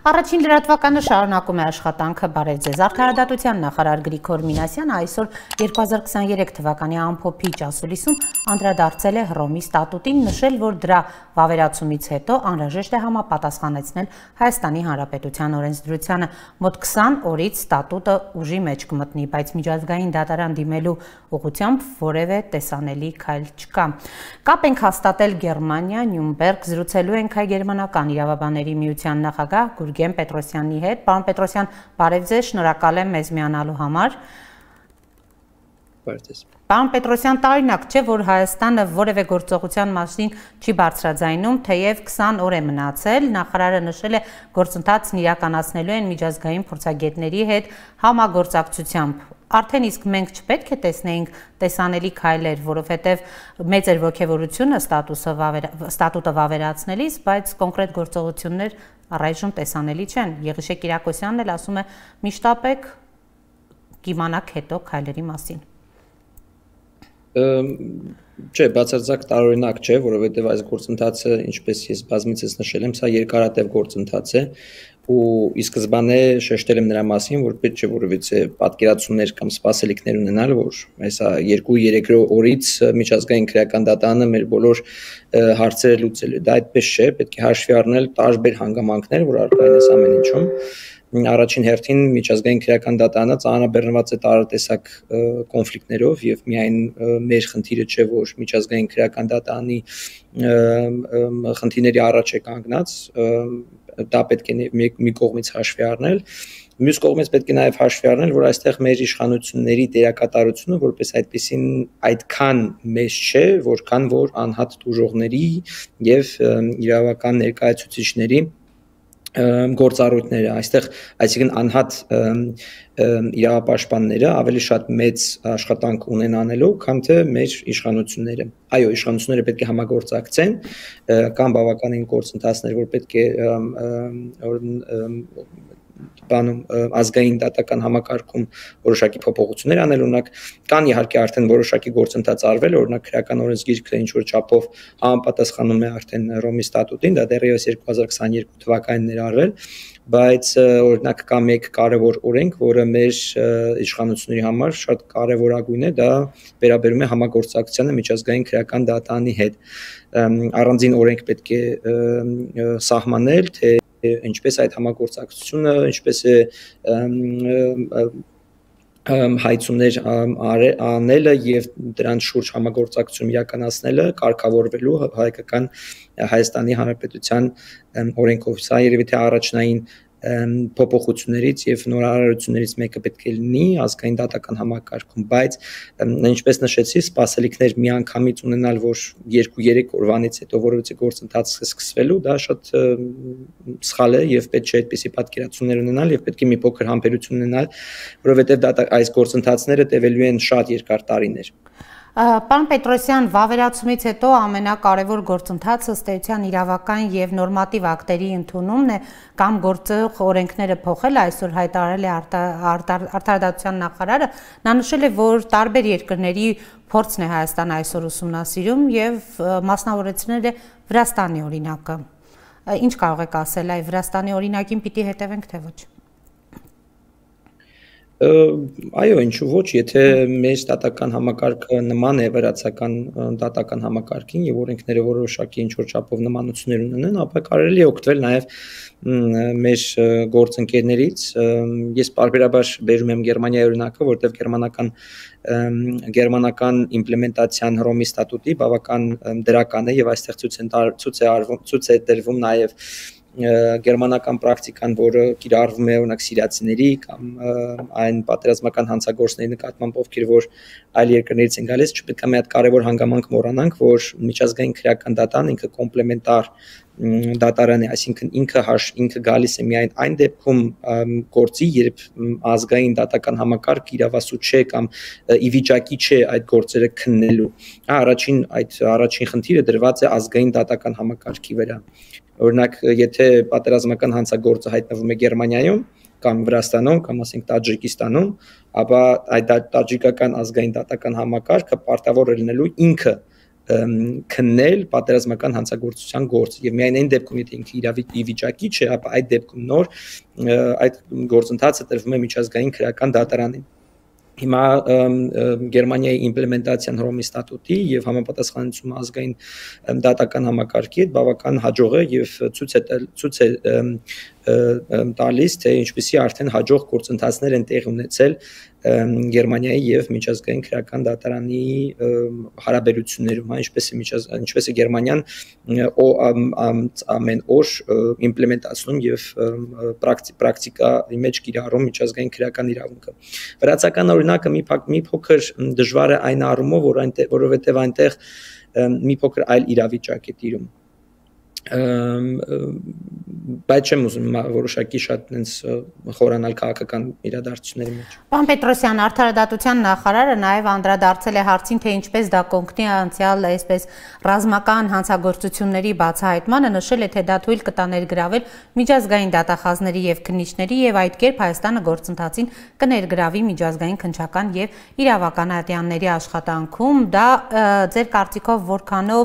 Առաջին լրատվականը շարունակում է աշխատանքը բարև ձեզ։ Արդարադատության նախարար Գրիգոր Մինասյանը այսօր 2023 թվականի ամփոփիչ ասուլիսում անդրադարձել է Հռոմի ստատուտին, նշել, որ դրա վավերացումից հետո անհրաժեշտ է համապատասխանեցնել Հայաստանի Հանրապետության օրենսդրությանը։ Մոտ 20 օրից ստատուտը ուժի մեջ կմտնի, բայց միջազգային դատարան դիմելու ուղղությամբ որևէ տեսանելի քայլ չկա։ Կապ ենք հաստատել Գերմանիա, Նյուրնբերգ, զրուցելու ենք հայ գերմանական իրավաբանների միության նախագահ Գուրգեն Պետրոսյանի հետ։ Պարոն Պետրոսյան, բարև ձեզ, շնորհակալ եմ մեզ միանալու համար։ Պարոն Պետրոսյան, տարօրինակ չէ, որ Հայաստանը որևէ գործողության մասին չի բարձրաձայնում, թեև 20 օր է մնացել, նախարարը նշել է գործընթացն իրականացնելու են միջազգային փորձագետների հետ համագործակցությամբ։ Արդեն իսկ մենք չպետք է տեսնեինք տեսանելի քայլեր, որովհետև մեծ էր ոգևորությունը ստատուտը վավերացնելիս, բայց կոնկրետ գործողություններ առայժմ տեսանելի չեն։ Եղիշե Կիրակոսյանն էլ ասում է՝ միշտապեք կիմանաք հետո քայլերի մասին։ Չէ, բացարձակ տարօրինակ չէ, որովհետև այս գործընթացը, ինչպես ես բազմիցս նշել եմ, սա երկարատև գործընթաց է ու ի սկզբանե շեշտել եմ նրա մասին, որ պետք չէ որևիցե պատկերացումներ կամ սպասելիքներ ունենալ, որ այսա 2-3 օրից միջազգային քրեական դատարանը մեր բոլոր հարցերը լուծելու։ Դա այդպես չէ, պետք է հաշվի առնել տարբեր հանգամանքներ, որ առկա են այս ամեն ինչում։ Առաջին հերթին միջազգային քրեական դատարանը ծանրաբեռնված է տարատեսակ կոնֆլիկտներով եւ միայն մեր խնդիրը չէ, որ միջազգային քրեական դատարանի խնդիրների առաջ է կանգնած, դա պետք է մի կողմից հաշվի առնել, մյուս կողմից պետք է նաեւ հաշվի առնել, որ այստեղ մեր իշխանությունների դերակատարությունը որպես այդպեսին այդքան մեծ չէ, որքան որ անհատ դժողների եւ իրավական ներկայացուցիչների գործառույթները այստեղ, այսինքն անհատ իրավապաշտպանները ավելի շատ մեծ աշխատանք ունեն անելու, քան թե մեր իշխանությունները։ Այո, իշխանությունները պետք է համագործակցեն, կան բավականին գործընթացներ, որ պետք է ազգային դատական համակարգում որոշակի փոփոխություններ անել, օրինակ կան իհարկե արդեն որոշակի գործընթաց արվել, օրինակ քրեական օրենսգիրքը ինչ որ չափով համապատասխանում է արդեն Հռոմի ստատուտին, դա դեռևս 2022 թվականին էր արվել, բայց օրինակ կա մեկ կարևոր օրենք, որը մեր իշխանությունների համար շատ կարևորագույն է, դա վերաբերում է համագործակցությանը միջազգային քրեական դատարանի հետ։ Առանձին օրենք պետք է սահմանել, թե ինչպես այդ համագործակցությունը, ինչպես է հայցումներ անելը եւ դրանց շուրջ համագործակցություն իրականացնելը կարգավորվելու հայկական Հայաստանի Հանրապետության օրենքով։ Սա երևի թե առաջնային փոփոխություններից եւ նորարարություններից մեկը պետք է լինի ազգային դատական համակարգում, բայց ինչպես նշեցի, սպասելիքներ միանգամից ունենալ, որ 2-3 օրվանից հետո որևէ գործընթաց սկսվելու, դա շատ սխալ է եւ պետք չէ այդպիսի պատկերացումներ ունենալ եւ պետք է մի փոքր համբերություն ունենալ, որովհետեւ այս գործընթացները տևելու են շատ երկար տարիներ։ Պարոն Պետրոսյան, վավերացումից հետո ամենակարևոր գործընթացը ըստ էության իրավական եւ նորմատիվ ակտերի ընդունումն է կամ գործող օրենքները փոխել, այսօր հայտարարել է արդարադատության նախարարը, նա նշել է, որ տարբեր երկրների փորձն է Հայաստանը այսօր ուսումնասիրում եւ մասնավորեցնել է Վրաստանի օրինակը։ Ինչ կարող եք ասել, այ Վրաստանի օրինակին պիտի հետևենք, թե ոչ։ Այո, ինչու ոչ, եթե մեր դատական համակարգը նման է վրացական դատական համակարգին եւ օրենքները որոշակի ինչ որ չափով նմանություններ ունենան, ապա կարելի է օգտվել նաեւ մեր գործընկերներից։ Ես պարբերաբար բերում եմ Գերմանիայի օրինակը, որտեղ գերմանական իմպլեմենտացիան Հռոմի ստատուտի բավական դրական է եւ այստեղ ցույց է տրվում նաեւ գերմանական պրակտիկան, որը կիրառվում է օրինակ սիրիացիների կամ այն պատերազմական հանցագործների նկատմամբ, ովքեր որ այլ երկրներից են գալիս, չպետք է մի հատ կարևոր հանգամանք մոռանանք, որ միջազգային քրեական դատարան ինքը կոմպլեմենտար դատարան է, այսինքն ինքը գալիս է միայն այն դեպքում գործի, երբ ազգային դատական համակարգ իրավասու չէ կամ ի վիճակի չէ այդ գործերը քննելու։ Առաջին խնդիրը դրված է ազգային դատական համակարգի վրա։ Օրինակ, եթե պատերազմական հանցագործը հայտնվում է Գերմանիայում կամ Վրաստանում կամ ասենք Տաջիկստանում, ապա այդ տաջիկական ազգային դատական համակարգը պարտավոր է լինելու ինքը քննել պատերազմական հանցագործության գործ եւ միայն այն դեպքում եթե ինքը իրավի վիճակի չէ, ապա այդ դեպքում նոր այդ գործընթացը տրվում է միջազգային քրեական դատարանին։ Հիմա Գերմանիայի իմպլեմենտացիան Հռոմի ստատուտի եւ համապատասխանեցումը ազգային դատական համակարգի հետ բավական հաջող է եւ ցույց է տալիս, թե ինչպեսի արդեն հաջող գործընթացներ են տեղի ունեցել Գերմանիայի եւ միջազգային քրեական դատարանի հարաբերություններում, ինչպես է Գերմանիան ամեն օր իմպլեմենտացնում եւ պրակտիկայի մեջ կիրառում միջազգային քրեական իրավունքը։ Վրացական օրինակը մի փոքր դժվար է այն առումով, որովհետեւ այնտեղ մի փոքր այլ իրավիճակ է տիրում։ Բայց չեմ ուզում որոշակի շատ խորանալ քաղաքական իրադարձությունների մեջ։ Պարոն Պետրոսյան, Արդարադատության նախարարը նաև անդրադարձել է հարցին, թե ինչպես դա կօգնի անցյալ այսպես ռազմական հանցագործությունների բացահայտմանը, նշել է, թե դա թույլ կտա ներգրավել միջազգային դատախազների եւ քննիչների եւ այդ կերպ Հայաստանը գործընթացին կներգրավի միջազգային քննչական եւ իրավականատյանների աշխատանքում։ Դա ձեր կարծիքով որքանով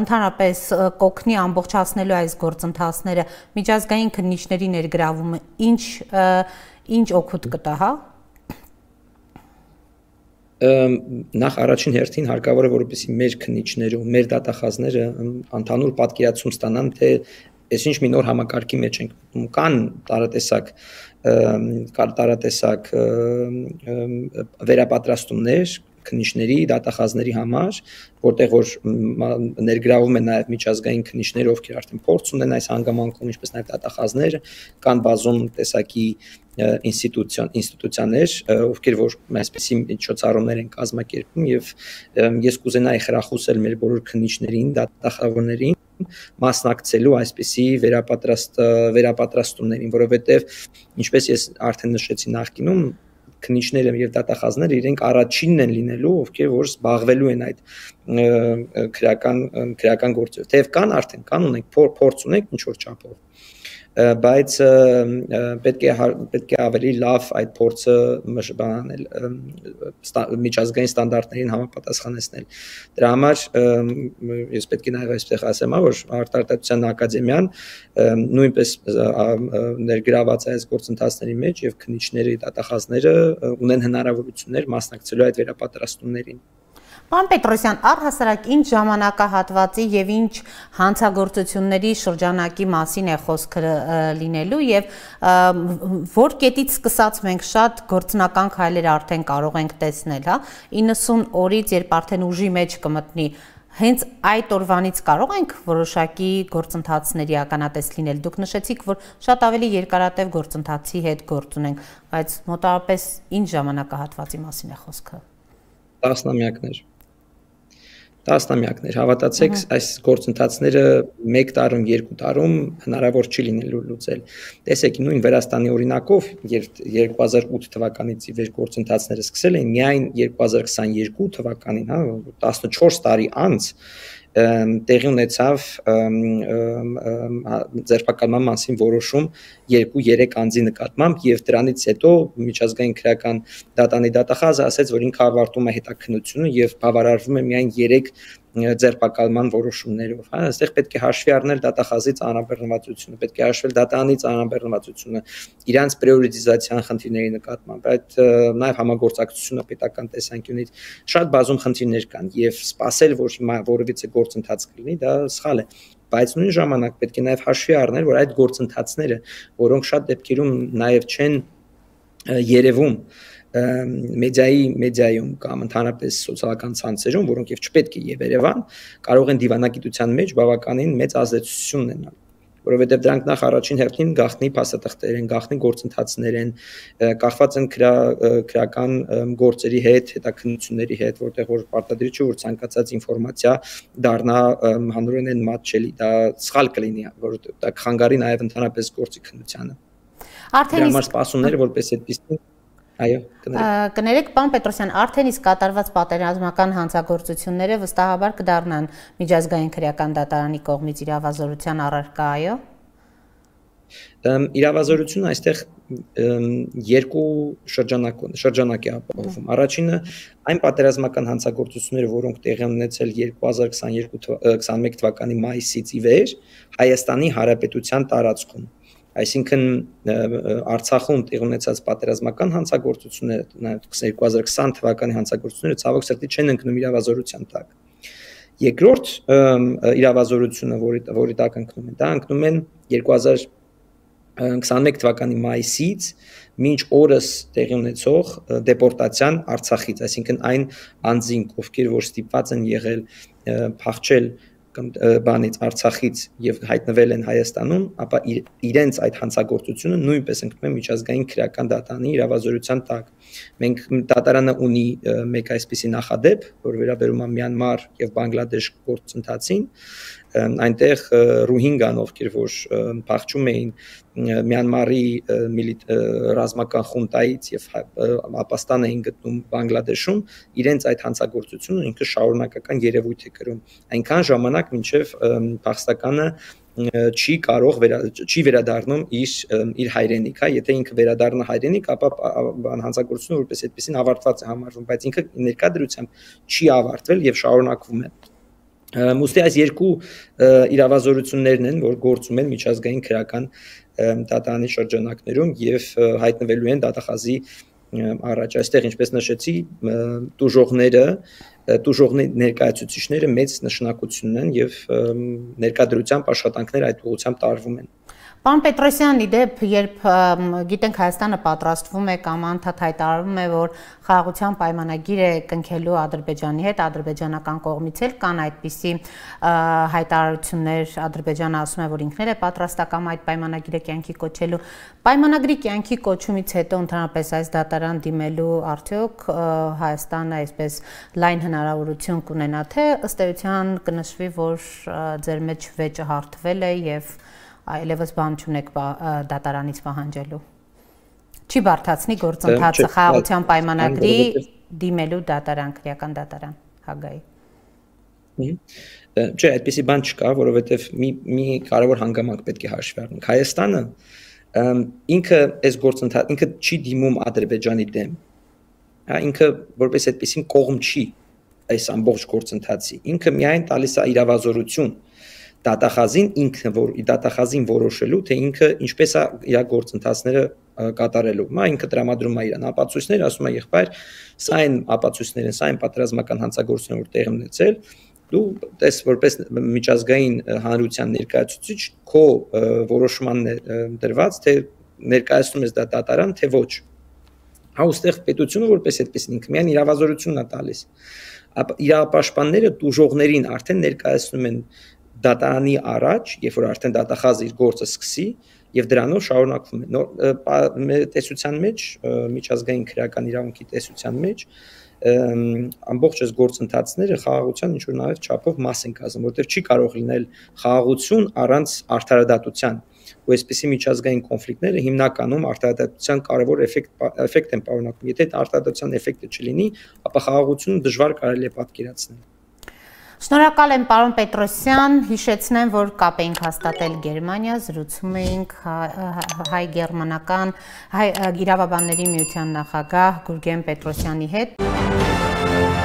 ընդհանրապես կօգնի ամբողջացնելու այս գործընթացները, միջազգային քննիչների ներգրավումը ինչ օգուտ կտա, հա? Նախ առաջին հերթին հարկավոր է, որպեսզի մեր քննիչները ու մեր դատախազները ընդհանուր պատկերացում ստանան, թե այսինչ մի նոր համակարգի մեջ ենք, կան տարատեսակ վերապատրաստումներ քննիչների, դատախազների համար, որտեղ որ ներգրավում են նաև միջազգային քննիչներ, ովքեր արդեն փորձ ունեն այս հանգամանքում, ինչպես նաև դատախազները, կան բազում տեսակի ինստիտուցիաներ, ովքեր որ այսպիսի միջոցառումներ են կազմակերպում եւ ես կուզենայի խրախուսել մեր բոլոր քննիչներին, դատախազներին մասնակցելու այսպիսի վերապատրաստումներին, որովհետեւ ինչպես ես արդեն նշեցի նախկինում, քննիչները եւ դատախազները իրենք առաջինն են լինելու, ովքեր որ զբաղվելու են այդ քրեական գործով։ Թեև կան ունենք փորձ ունենք ինչ որ չափով, բայց պետք է ավելի լավ այդ փորձը մշտաբանել, միջազգային ստանդարտներին համապատասխանեցնել։ Դրա համար ես պետք է նաև այստեղ ասեմ, որ Արտարդատության ակադեմիան նույնպես ներգրաված է այս գործընթացների մեջ եւ քննիչները, դատախազները ունեն հնարավորություններ մասնակցելու այդ վերապատրաստումներին։ Պարոն Պետրոսյան, առհասարակ ինչ ժամանակահատվածի եւ ինչ հանցագործությունների շրջանակի մասին է խոսքը լինելու եւ որ կետից սկսած մենք շատ գործնական քայլեր արդեն կարող ենք տեսնել, հա, 90 օրից երբ արդեն ուժի մեջ կմտնի, հենց այդ օրվանից կարող ենք որոշակի գործընթացների ականատես լինել։ Դուք նշեցիք, որ շատ ավելի երկարատև գործընթացի հետ գործ ունենք, բայց մոտավորապես ինչ ժամանակահատվածի մասին է խոսքը։ Տասնամյակներ, հավատացեք, այս գործընթացները 1 տարում, 2 տարում հնարավոր չի լինելու լուծել։ Տեսեք, նույն Վրաստանի օրինակով, երբ 2008 թվականից ի վեր գործընթացները սկսել էին, միայն 2022 թվականին, հա, 14 տարի անց տեղի ունեցավ ձերբակալման մասին որոշում 2-3 անձի նկատմամբ եւ դրանից հետո միջազգային քրեական դատանի դատախազը ասաց, որ ինքը ավարտում է հետաքննությունը եւ բավարարվում է միայն 3 ձերբակալման որոշումներով, հա, այստեղ պետք է հաշվի առնել դատախազի ծանրաբեռնվածությունը, պետք է հաշվել դատանի ծանրաբեռնվածությունը, իրանց պրիորիտիզացիան խնդիրների նկատմամբ, այդ նաև համագործակցությունը պետական տեսանկյունից շատ բազում խնդիրներ կան եւ սպասել, որ հիմա որևիցե գործընթաց կլինի, դա սխալ է, բայց նույն ժամանակ պետք է նաև հաշվի առնել, որ այդ գործընթացները, որոնք շատ դեպքերում նաև չեն երևում մեդիայում կամ ընդհանրապես սոցիալական ցանցերում, որոնք եւ չպետք է եւ Երևան, կարող են դիվանագիտության մեջ բավականին մեծ ազդեցություն ունենալ, որովհետեւ դրանք նախ առաջին հերթին գաղտնի փաստաթղթեր են, գաղտնի գործընթացներ են, կախված են քրեական գործերի հետ, հետաքննությունների հետ, որտեղ որ պարտադրիչը որ ցանկացած ինֆորմացիա դառնա հանրորեն մատչելի, դա սխալ կլինի, որովհետեւ դա կխանգարի նաեւ ընդհանրապես գործի քննությանը։ Արդեն իսկ սպասումները որպես այդպիսին Այո, կներեք, պարոն Պետրոսյան, արդեն իսկ կատարված պատերազմական հանցագործությունները վստահաբար կդառնան միջազգային քրեական դատարանի կողմից իրավազորության առարկա, այո։ Իրավազորությունը այստեղ երկու շրջանակ է ապահովում։ Առաջինը այն պատերազմական հանցագործությունները, որոնք տեղի են ունեցել 2021 թվականի մայիսից ի վեր Հայաստանի Հանրապետության տարածքում։ Այսինքն Արցախում տեղի ունեցած պատերազմական հանցագործությունները, նաև 2020 թվականի հանցագործությունները ցավոք սրտի չեն ընկնում իրավազորության տակ։ Երկրորդ իրավազորությունը, որի տակ ընկնում են, դա ընկնում են 2021 թվականի մայիսից մինչ օրս տեղի ունեցող դեպորտացիան Արցախից, այսինքն այն անձինք, ովքեր որ ստիպված են եղել փախչել բանից Արցախից եւ հայտնվել են Հայաստանում, ապա իրենց այդ հանցագործությունը նույնպես ընկնում է միջազգային քրեական դատարանի իրավազորության տակ։ Մենք դատարանը ունի մեկ այսպիսի նախադեպ, որ վերաբերում է Մյանմար եւ Բանգլադեշ գործընթացին, այնտեղ Ռոհինգան, ովքեր որ փախչում էին Մյանմարի ռազմական խունտայից եւ ապաստան էին գտնում Բանգլադեշում, իրենց այդ հանցագործությունը ինքը շարունակական երևույթ է կրում։ Այնքան ժամանակ մինչև փախստականը չի վերադառնում իր հայրենիք, հա, եթե ինքը վերադառնա հայրենիք, ապա հանցագործությունը որպես այդպեսին ավարտված է համարվում, բայց ինքը ներկա դրությամբ չի ավարտվել եւ շարունակվում է։ Ուստի այս երկու իրավազորություններն են, որ գործում են միջազգային քրեական դատարանի շրջանակներում եւ հայտնվելու են դատախազի առաջ։ Այստեղ ինչպես նշեցի, տուժողների ներկայացուցիչները մեծ նշանակություն ունեն եւ ներկայդրությամբ աշխատանքներ այդ ուղղությամբ տարվում են։ Պարոն Պետրոսյան, իդեպ, երբ գիտենք Հայաստանը պատրաստվում է կամ անդադ հայտարարում է, որ խաղաղության պայմանագիր է կնքելու Ադրբեջանի հետ, ադրբեջանական կողմից էլ կան այդպիսի հայտարարություններ, Ադրբեջանը ասում է, որ ինքն է պատրաստական այդ պայմանագիրը կյանքի կոչելու։ Պայմանագրի կյանքի կոչումից հետո ընդհանրապես այս դատարան դիմելու արդյոք Հայաստանը այսպես լայն հնարավորություն կունենա, թե ըստ էության կնշվի, որ ձեր մեջ վեճը հարթվել է եւ այլևս բան չունեք դատարանից պահանջելու։ Չի բարդացնի գործընթացը խաղաղության պայմանագրի դիմելու դատարան, քրեական դատարան Հագայի։ Չէ, այդպիսի բան չկա, որովհետև մի կարևոր հանգամանք պետք է հաշվի առնենք։ Հայաստանը ինքը այս գործընթացը ինքը չի դիմում Ադրբեջանի դեմ։ Ինքը որպես այդպիսին կողմ չի այս ամբողջ գործընթացի։ Ինքը միայն տալիս է իրավազորություն դատախազին, ինքը որ դատախազին որոշելու, թե ինքը ինչպես է իր գործընթացները կատարելու։ Ինքը տրամադրում է իր ապացույցները, ասում է եղբայր, սա այն ապացույցներ են, սա այն պատերազմական հանցագործությունները, որ տեղի ունեցել, դու տես որպես միջազգային հանրության ներկայացուցիչ քո որոշմանն է դրված, թե ներկայացնում ես դա դատարան, թե ոչ։ Այստեղ պետությունը որպես այդպես ինքը միայն իրավազորությունն է տալիս։ Իրավապաշտպանները տուժողներին արդեն ներկայացնում են դատարանի առաջ, երբ որ արդեն դատախազը իր գործը սկսի եւ դրանով շարունակվում է։ Մեր տեսության մեջ, միջազգային քրեական իրավունքի տեսության մեջ ամբողջ այս գործընթացները խաղաղության ինչ որ նաեւ չափով մաս են կազմում, որտեղ չի կարող լինել խաղաղություն առանց արդարադատության։ Ու այսպիսի միջազգային կոնֆլիկտները հիմնականում արդարադատության կարևոր էֆեկտ են պարունակում։ Եթե արդարադատության էֆեկտը չլինի, ապա խաղաղությունը դժվար կարելի է պատկերացնել։ Շնորհակալ եմ պարոն Պետրոսյան, հիշեցնեմ, որ կապ էինք հաստատել Գերմանիա, զրուցում էինք հայ-գերմանական իրավաբանների միության նախագահ Գուրգեն Պետրոսյանի հետ։